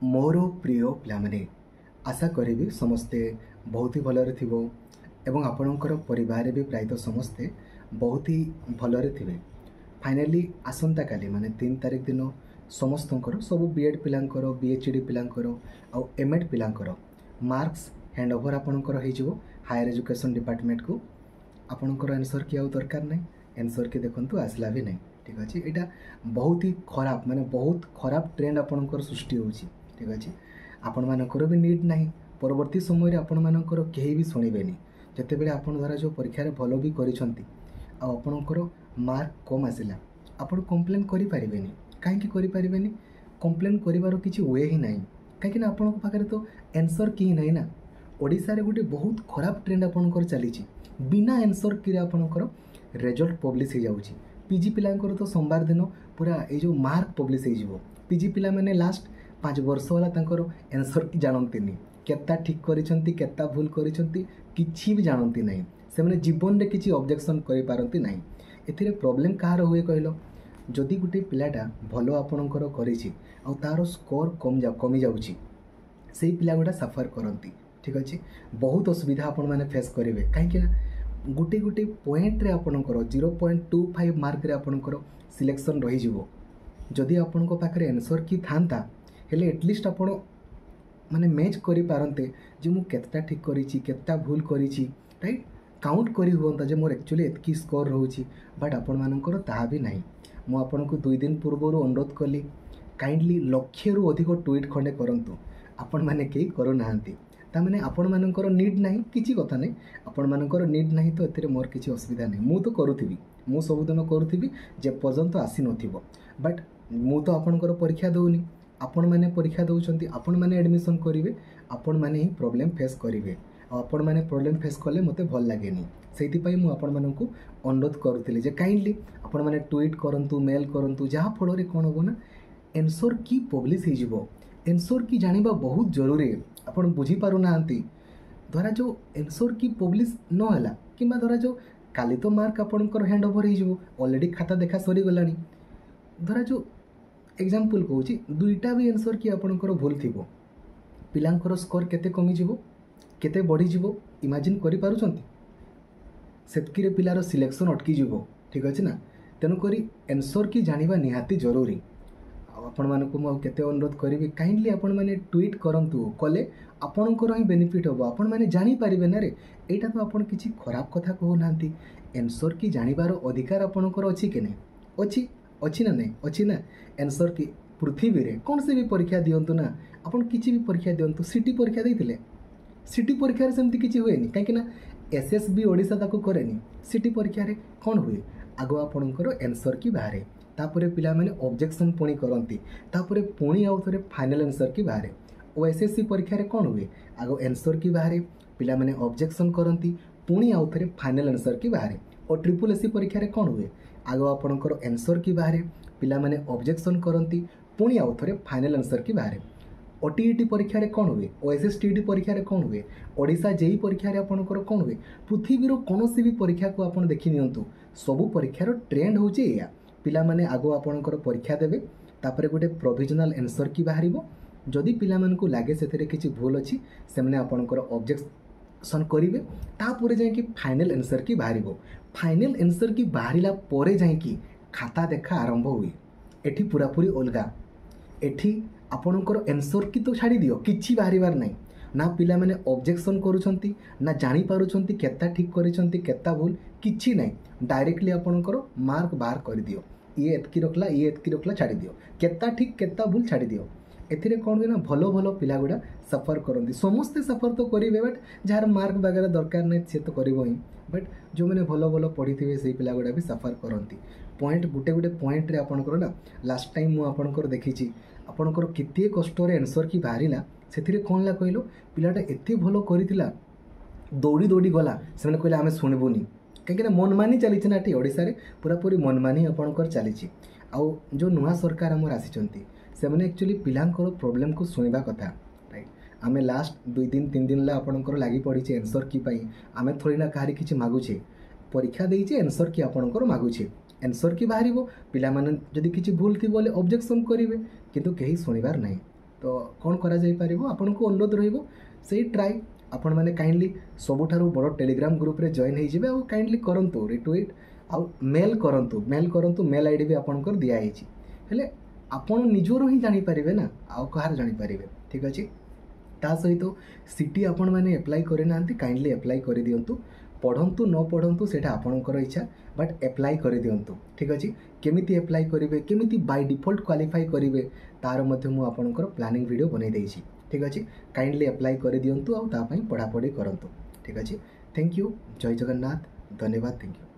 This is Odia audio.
ମୋର ପ୍ରିୟ ପିଲାମାନେ, ଆଶା କରିବି ସମସ୍ତେ ବହୁତ ହି ଭଲରେ ଥିବ ଏବଂ ଆପଣଙ୍କର ପରିବାରରେ ବି ପ୍ରାୟତଃ ସମସ୍ତେ ବହୁତ ହି ଭଲରେ ଥିବେ। ଫାଇନାଲି ଆସନ୍ତାକାଲି ମାନେ 3 ତାରିଖ ଦିନ ସମସ୍ତଙ୍କର, ସବୁ ବି ଏଡ଼୍ ପିଲାଙ୍କର, ବି ଏଚ୍ ଡ଼ି ପିଲାଙ୍କର ଆଉ ଏମ୍ ଏଡ଼୍ ପିଲାଙ୍କର ମାର୍କସ୍ ହ୍ୟାଣ୍ଡ ଓଭର୍ ଆପଣଙ୍କର ହେଇଯିବ ହାୟର ଏଜୁକେସନ୍ ଡିପାର୍ଟମେଣ୍ଟକୁ। ଆପଣଙ୍କର ଆନ୍ସର୍ କି ଆଉ ଦରକାର ନାହିଁ, ଆନ୍ସର୍ କି ଦେଖନ୍ତୁ ଆସିଲା ବି ନାହିଁ। ଠିକ୍ ଅଛି, ଏଇଟା ବହୁତ ହି ଖରାପ, ମାନେ ବହୁତ ଖରାପ ଟ୍ରେଣ୍ଡ ଆପଣଙ୍କର ସୃଷ୍ଟି ହେଉଛି। ଠିକ୍ ଅଛି, ଆପଣମାନଙ୍କର ବି ନିଡ଼୍ ନାହିଁ, ପରବର୍ତ୍ତୀ ସମୟରେ ଆପଣମାନଙ୍କର କେହି ବି ଶୁଣିବେନି। ଯେତେବେଳେ ଆପଣ ଧରା ଯେଉଁ ପରୀକ୍ଷାରେ ଭଲ ବି କରିଛନ୍ତି ଆଉ ଆପଣଙ୍କର ମାର୍କ କମ୍ ଆସିଲା, ଆପଣ କମ୍ପ୍ଲେନ୍ କରିପାରିବେନି। କାହିଁକି କରିପାରିବେନି? କମ୍ପ୍ଲେନ୍ କରିବାର କିଛି we ହିଁ ନାହିଁ, କାହିଁକିନା ଆପଣଙ୍କ ପାଖରେ ତ ଆନ୍ସର୍ କି ନାହିଁ ନା। ଓଡ଼ିଶାରେ ଗୋଟେ ବହୁତ ଖରାପ ଟ୍ରେଣ୍ଡ ଆପଣଙ୍କର ଚାଲିଛି, ବିନା ଆନ୍ସର୍ କିରେ ଆପଣଙ୍କର ରେଜଲ୍ଟ ପବ୍ଲିଶ ହେଇଯାଉଛି। ପି ଜି ପିଲାଙ୍କର ତ ସୋମବାର ଦିନ ପୁରା ଏଇ ଯେଉଁ ମାର୍କ ପବ୍ଲିଶ ହେଇଯିବ। ପି ଜି ପିଲାମାନେ ଲାଷ୍ଟ 5 ବର୍ଷ ହେଲା ତାଙ୍କର ଆନ୍ସର୍ କି ଜାଣନ୍ତିନି, କେତେଟା ଠିକ୍ କରିଛନ୍ତି କେତେଟା ଭୁଲ କରିଛନ୍ତି କିଛି ବି ଜାଣନ୍ତି ନାହିଁ। ସେମାନେ ଜୀବନରେ କିଛି ଅବଜେକ୍ସନ୍ କରିପାରନ୍ତି ନାହିଁ। ଏଥିରେ ପ୍ରୋବ୍ଲେମ୍ କାହାର ହୁଏ କହିଲ? ଯଦି ଗୋଟେ ପିଲାଟା ଭଲ ଆପଣଙ୍କର କରିଛି ଆଉ ତା'ର ସ୍କୋର୍ କମିଯାଉଛି, ସେଇ ପିଲା ଗୁଡ଼ା ସଫର୍ କରନ୍ତି। ଠିକ୍ ଅଛି, ବହୁତ ଅସୁବିଧା ଆପଣମାନେ ଫେସ୍ କରିବେ, କାହିଁକିନା ଗୋଟେ ଗୋଟେ ପଏଣ୍ଟରେ ଆପଣଙ୍କର 0.25 ମାର୍କରେ ଆପଣଙ୍କର ସିଲେକ୍ସନ୍ ରହିଯିବ। ଯଦି ଆପଣଙ୍କ ପାଖରେ ଆନ୍ସର୍ କି ଥାନ୍ତା ହେଲେ ଆଟଲିଷ୍ଟ ଆପଣ ମାନେ ମ୍ୟାଚ୍ କରିପାରନ୍ତେ ଯେ ମୁଁ କେତେଟା ଠିକ୍ କରିଛି କେତେଟା ଭୁଲ କରିଛି, ରାଇଟ୍? କାଉଣ୍ଟ କରି ହୁଅନ୍ତା ଯେ ମୋର ଆକ୍ଚୁଆଲି ଏତିକି ସ୍କୋର୍ ରହୁଛି, ବଟ୍ ଆପଣମାନଙ୍କର ତାହା ବି ନାହିଁ। ମୁଁ ଆପଣଙ୍କୁ 2 ଦିନ ପୂର୍ବରୁ ଅନୁରୋଧ କଲି, କାଇଣ୍ଡଲି 1,00,000ରୁ ଅଧିକ ଟ୍ୱିଟ୍ ଖଣ୍ଡେ କରନ୍ତୁ, ଆପଣମାନେ କେହି କରୁନାହାନ୍ତି। ତାମାନେ ଆପଣମାନଙ୍କର ନିଡ଼୍ ନାହିଁ, କିଛି କଥା ନାହିଁ, ଆପଣମାନଙ୍କର ନିଡ଼୍ ନାହିଁ ତ ଏଥିରେ ମୋର କିଛି ଅସୁବିଧା ନାହିଁ। ମୁଁ ତ କରୁଥିବି, ମୁଁ ସବୁଦିନ କରୁଥିବି ଯେପର୍ଯ୍ୟନ୍ତ ଆସିନଥିବ। ବଟ୍ ମୁଁ ତ ଆପଣଙ୍କର ପରୀକ୍ଷା ଦେଉନି, ଆପଣମାନେ ପରୀକ୍ଷା ଦେଉଛନ୍ତି, ଆପଣମାନେ ଆଡ଼ମିସନ୍ କରିବେ, ଆପଣମାନେ ହିଁ ପ୍ରୋବ୍ଲେମ୍ ଫେସ୍ କରିବେ। ଆଉ ଆପଣମାନେ ପ୍ରୋବ୍ଲେମ୍ ଫେସ୍ କଲେ ମୋତେ ଭଲ ଲାଗେନି। ସେଇଥିପାଇଁ ମୁଁ ଆପଣମାନଙ୍କୁ ଅନୁରୋଧ କରୁଥିଲି ଯେ କାଇଣ୍ଡଲି ଆପଣମାନେ ଟ୍ୱିଟ୍ କରନ୍ତୁ, ମେଲ୍ କରନ୍ତୁ, ଯାହାଫଳରେ କ'ଣ ହେବ ନା ଆନ୍ସର୍ କି ପବ୍ଲିଶ ହେଇଯିବ। ଆନ୍ସର୍ କି ଜାଣିବା ବହୁତ ଜରୁରୀ, ଆପଣ ବୁଝିପାରୁନାହାନ୍ତି। ଧରାଯାଉ ଆନ୍ସର୍ କି ପବ୍ଲିଶ ନହେଲା, କିମ୍ବା ଧରାଯାଉ କାଲି ତ ମାର୍କ ଆପଣଙ୍କର ହ୍ୟାଣ୍ଡ ଓଭର୍ ହେଇଯିବ, ଅଲରେଡ଼ି ଖାତା ଦେଖା ସରିଗଲାଣି। ଧରାଯାଉ ଏକ୍ଜାମ୍ପଲ୍ କହୁଛି, 2ଟା ବି ଆନ୍ସର୍ କି ଆପଣଙ୍କର ଭୁଲ ଥିବ, ପିଲାଙ୍କର ସ୍କୋର୍ କେତେ କମିଯିବ କେତେ ବଢ଼ିଯିବ ଇମାଜିନ୍ କରିପାରୁଛନ୍ତି? ସେତିକିରେ ପିଲାର ସିଲେକ୍ସନ୍ ଅଟକିଯିବ। ଠିକ୍ ଅଛି ନା? ତେଣୁକରି ଆନ୍ସର୍ କି ଜାଣିବା ନିହାତି ଜରୁରୀ। ଆଉ ଆପଣମାନଙ୍କୁ ମୁଁ ଆଉ କେତେ ଅନୁରୋଧ କରିବି, କାଇଣ୍ଡଲି ଆପଣମାନେ ଟ୍ୱିଟ୍ କରନ୍ତୁ, କଲେ ଆପଣଙ୍କର ହିଁ ବେନିଫିଟ୍ ହେବ, ଆପଣମାନେ ଜାଣିପାରିବେ ନା ରେ। ଏଇଟା ତ ଆପଣ କିଛି ଖରାପ କଥା କହୁନାହାନ୍ତି। ଆନ୍ସର୍ କି ଜାଣିବାର ଅଧିକାର ଆପଣଙ୍କର ଅଛି କି ନାହିଁ? ଅଛି, ଅଛି ନା ନାହିଁ? ଅଛି ନା। ଆନ୍ସର୍ କି ପୃଥିବୀରେ କୌଣସି ବି ପରୀକ୍ଷା ଦିଅନ୍ତୁ ନା, ଆପଣ କିଛି ବି ପରୀକ୍ଷା ଦିଅନ୍ତୁ, ସିଟି ପରୀକ୍ଷା ଦେଇଥିଲେ, ସିଟି ପରୀକ୍ଷାରେ ସେମିତି କିଛି ହୁଏନି, କାହିଁକିନା ଏସ୍ ଏସ୍ ବି ଓଡ଼ିଶା ତାକୁ କରେନି। ସିଟି ପରୀକ୍ଷାରେ କ'ଣ ହୁଏ? ଆଗ ଆପଣଙ୍କର ଆନ୍ସର୍ କି ବାହାରେ, ତାପରେ ପିଲାମାନେ ଅବଜେକ୍ସନ୍ ପୁଣି କରନ୍ତି, ତାପରେ ପୁଣି ଆଉ ଥରେ ଫାଇନାଲ୍ ଆନ୍ସର୍ କି ବାହାରେ। ଓ ଏସ୍ ଏସ୍ ସି ପରୀକ୍ଷାରେ କ'ଣ ହୁଏ? ଆଗ ଆନ୍ସର୍ କି ବାହାରେ, ପିଲାମାନେ ଅବଜେକ୍ସନ୍ କରନ୍ତି, ପୁଣି ଆଉ ଥରେ ଫାଇନାଲ୍ ଆନ୍ସର୍ କି ବାହାରେ। ଓ ଟ୍ରିପୁଲ୍ ଏସ୍ ସି ପରୀକ୍ଷାରେ କ'ଣ ହୁଏ? ଆଗ ଆପଣଙ୍କର ଆନ୍ସର୍ କି ବାହାରେ, ପିଲାମାନେ ଅବଜେକ୍ସନ୍ କରନ୍ତି, ପୁଣି ଆଉ ଥରେ ଫାଇନାଲ୍ ଆନ୍ସର୍ କି ବାହାରେ। ଓ ଟି ଇ ଟି ପରୀକ୍ଷାରେ କ'ଣ ହୁଏ? ଓ ଏସ୍ ଏସ୍ ଟି ଟି ପରୀକ୍ଷାରେ କ'ଣ ହୁଏ? ଓଡ଼ିଶା ଜେଇ ପରୀକ୍ଷାରେ ଆପଣଙ୍କର କ'ଣ ହୁଏ? ପୃଥିବୀର କୌଣସି ବି ପରୀକ୍ଷାକୁ ଆପଣ ଦେଖି ନିଅନ୍ତୁ, ସବୁ ପରୀକ୍ଷାର ଟ୍ରେଣ୍ଡ ହେଉଛି ଏଇଆ। ପିଲାମାନେ ଆଗ ଆପଣଙ୍କର ପରୀକ୍ଷା ଦେବେ, ତାପରେ ଗୋଟେ ପ୍ରୋଭିଜନାଲ୍ ଆନ୍ସର୍ କି ବାହାରିବ। ଯଦି ପିଲାମାନଙ୍କୁ ଲାଗେ ସେଥିରେ କିଛି ଭୁଲ ଅଛି, ସେମାନେ ଆପଣଙ୍କର ଅବଜେକ୍ସନ୍ କରିବେ, ତାପରେ ଯାଇକି ଫାଇନାଲ୍ ଆନ୍ସର୍ କି ବାହାରିବ। ଫାଇନାଲ୍ ଆନ୍ସର୍ କି ବାହାରିଲା ପରେ ଯାଇକି ଖାତା ଦେଖା ଆରମ୍ଭ ହୁଏ। ଏଠି ପୁରାପୁରି ଅଲଗା। ଏଠି ଆପଣଙ୍କର ଆନ୍ସର୍ କି ତ ଛାଡ଼ିଦିଅ, କିଛି ବାହାରିବାର ନାହିଁ ନା। ପିଲାମାନେ ଅବଜେକ୍ସନ୍ କରୁଛନ୍ତି ନା ଜାଣିପାରୁଛନ୍ତି କେତେଟା ଠିକ୍ କରିଛନ୍ତି କେତେଟା ଭୁଲ, କିଛି ନାହିଁ। ଡାଇରେକ୍ଟଲି ଆପଣଙ୍କର ମାର୍କ ବାହାର କରିଦିଅ, ଇଏ ଏତିକି ରଖିଲା, ଇଏ ଏତିକି ରଖିଲା, ଛାଡ଼ିଦିଅ, କେତେଟା ଠିକ୍ କେତେଟା ଭୁଲ ଛାଡ଼ିଦିଅ। ଏଥିରେ କ'ଣ ହୁଏ ନା ଭଲ ଭଲ ପିଲା ଗୁଡ଼ା ସଫର୍ କରନ୍ତି। ସମସ୍ତେ ସଫର୍ ତ କରିବେ, ବଟ୍ ଯାହାର ମାର୍କ ବାଗେରା ଦରକାର ନାହିଁ ସେ ତ କରିବ ହିଁ, ବଟ୍ ଯେଉଁମାନେ ଭଲ ଭଲ ପଢ଼ିଥିବେ ସେଇ ପିଲା ଗୁଡ଼ା ବି ସଫର୍ କରନ୍ତି। ପଏଣ୍ଟ ଗୋଟେ ଗୋଟେ ପଏଣ୍ଟରେ ଆପଣଙ୍କର ନା, ଲାଷ୍ଟ ଟାଇମ୍ ମୁଁ ଆପଣଙ୍କର ଦେଖିଛି, ଆପଣଙ୍କର କେତେ କଷ୍ଟରେ ଆନ୍ସର୍ କି ବାହାରିଲା, ସେଥିରେ କ'ଣ ହେଲା କହିଲ? ପିଲାଟା ଏତେ ଭଲ କରିଥିଲା, ଦୌଡ଼ି ଦୌଡ଼ି ଗଲା, ସେମାନେ କହିଲେ ଆମେ ଶୁଣିବୁନି, କାହିଁକିନା ମନମାନି ଚାଲିଛି ନା ଏଠି ଓଡ଼ିଶାରେ, ପୁରାପୁରି ମନମାନି ଆପଣଙ୍କର ଚାଲିଛି। ଆଉ ଯେଉଁ ନୂଆ ସରକାର ଆମର ଆସିଛନ୍ତି, ସେମାନେ ଆକ୍ଚୁଆଲି ପିଲାଙ୍କର ପ୍ରୋବ୍ଲେମ୍କୁ ଶୁଣିବା କଥା, ରାଇଟ୍? ଆମେ ଲାଷ୍ଟ 2 ଦିନ 3 ଦିନ ହେଲା ଆପଣଙ୍କର ଲାଗି ପଡ଼ିছে ଆନ୍ସର୍ କି ପାଇଁ। ଆମେ ଥୋଡ଼ି ନା କାହାରି କିଛି ମାଗୁଛେ, ପରୀକ୍ଷା ଦେଇଛେ, ଆନ୍ସର୍ କି ଆପଣଙ୍କର ମାଗୁଛେ। ଆନ୍ସର୍ କି ବାହାରିବ, ପିଲାମାନେ ଯଦି କିଛି ଭୁଲ ଥିବ ବୋଲେ ଅବଜେକ୍ସନ୍ କରିବେ, କିନ୍ତୁ କେହି ଶୁଣିବାର ନାହିଁ। ତ କ'ଣ କରାଯାଇପାରିବ, ଆପଣଙ୍କୁ ଅନୁରୋଧ ରହିବ ସେଇ ଟ୍ରାଏ। ଆପଣମାନେ କାଇଣ୍ଡଲି ସବୁଠାରୁ ବଡ଼ ଟେଲିଗ୍ରାମ ଗ୍ରୁପ୍ରେ ଜଏନ୍ ହେଇଯିବେ ଆଉ କାଇଣ୍ଡଲି କରନ୍ତୁ ରିଟ୍ୱିଟ୍ ଆଉ ମେଲ୍ କରନ୍ତୁ, ମେଲ୍ କରନ୍ତୁ। ମେଲ୍ I D ବି ଆପଣଙ୍କର ଦିଆହେଇଛି, ହେଲେ ଆପଣ ନିଜରୁ ହିଁ ଜାଣିପାରିବେ ନା ଆଉ କାହାର ଜାଣିପାରିବେ? ଠିକ୍ ଅଛି। ତା ସହିତ ସିଟି ଆପଣମାନେ ଆପ୍ଲାଏ କରିନାହାନ୍ତି, କାଇଣ୍ଡଲି ଆପ୍ଲାଏ କରିଦିଅନ୍ତୁ। ପଢ଼ନ୍ତୁ ନ ପଢ଼ନ୍ତୁ ସେଇଟା ଆପଣଙ୍କର ଇଚ୍ଛା, ବଟ୍ ଆପ୍ଲାଏ କରିଦିଅନ୍ତୁ। ଠିକ୍ ଅଛି। କେମିତି ଆପ୍ଲାଏ କରିବେ, କେମିତି ବାଇ ଡିଫଲ୍ଟ କ୍ୱାଲିଫାଇ କରିବେ, ତାର ମଧ୍ୟ ମୁଁ ଆପଣଙ୍କର ପ୍ଲାନିଂ ଭିଡ଼ିଓ ବନେଇ ଦେଇଛି। ଠିକ୍ ଅଛି। କାଇଣ୍ଡଲି ଆପ୍ଲାଏ କରିଦିଅନ୍ତୁ ଆଉ ତା ପାଇଁ ପଢ଼ାପଢ଼ି କରନ୍ତୁ। ଠିକ୍ ଅଛି। Thank you. ଜୟ ଜଗନ୍ନାଥ। ଧନ୍ୟବାଦ। Thank you.